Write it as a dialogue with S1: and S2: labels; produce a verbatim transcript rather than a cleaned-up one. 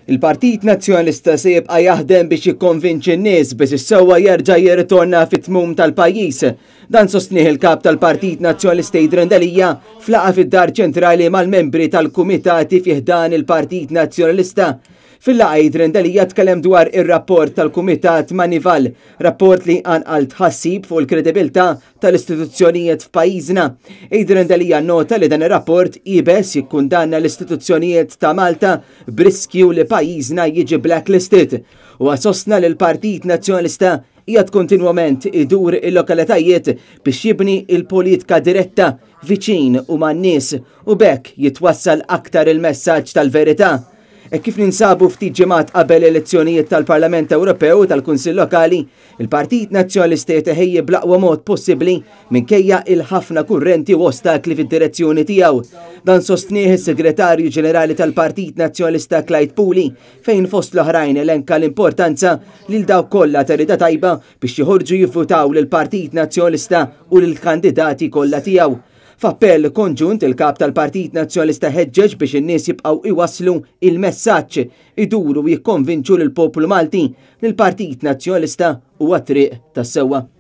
S1: Il-Partit Nazzjonalista se jibqa' jaħdem biex jikkonvinċi n-nies biex is-sewwa jerġa' jirritorna fit-tmum tal-pajjiż. Dan sostnieh il-kap tal-Partit Nazzjonalista Adrian Delia f'laqgħa fid-Dar Ċentrali mal-membri tal-kumitati fi ħdan il-Partit Nazzjonalista. Fil-laqgħa Adrian Delia tkellem dwar ir-rapport tal-Kumitat Manival, rapport li qanqal tħassib fuq il-kredibilità tal-istituzzjonijiet f'pajjiżna. Adrian Delia nota li dan ir-rapport iebes jikkundanna l-istituzzjonijiet ta' Malta b'riskju li pajjiżna jiġi blacklisted. U sostna li l-Partit Nazzjonalista qiegħed kontinwament idur il-lokalitajiet biex jibni il-politika diretta viċin u man-nies u b'hekk jitwassal aktar il-messaġġ tal-verità. E kif ninsabu ftit ġimgħat qabel elezzjonijiet tal-Parlament Ewropew u tal-Kunsill Lokali, il-Partit Nazzjonalista jitħejji bl-aqwa mod possibbli minkejja il-ħafna kurrenti u ostakli fid-direzzjoni tiegħu. Dan sostnieh is-Segretarju Ġenerali tal-Partit Nazzjonalista Clyde Puli, fejn fost l-oħrajn elenka l-importanza lil dawk kollha ta' rieda tajba biex joħorġu jivvutaw lill-Partit Nazzjonalista u lill-kandidati kollha tiegħu. F'appell konġunt, il-kap tal-Partit Nazzjonalista ħeġġeġ biex in-nies jibqgħu iwasslu il-messaġġ, iduru jikkonvinċu lill-poplu Malti li l-Partit Nazzjonalista huwa triq tas-sewwa.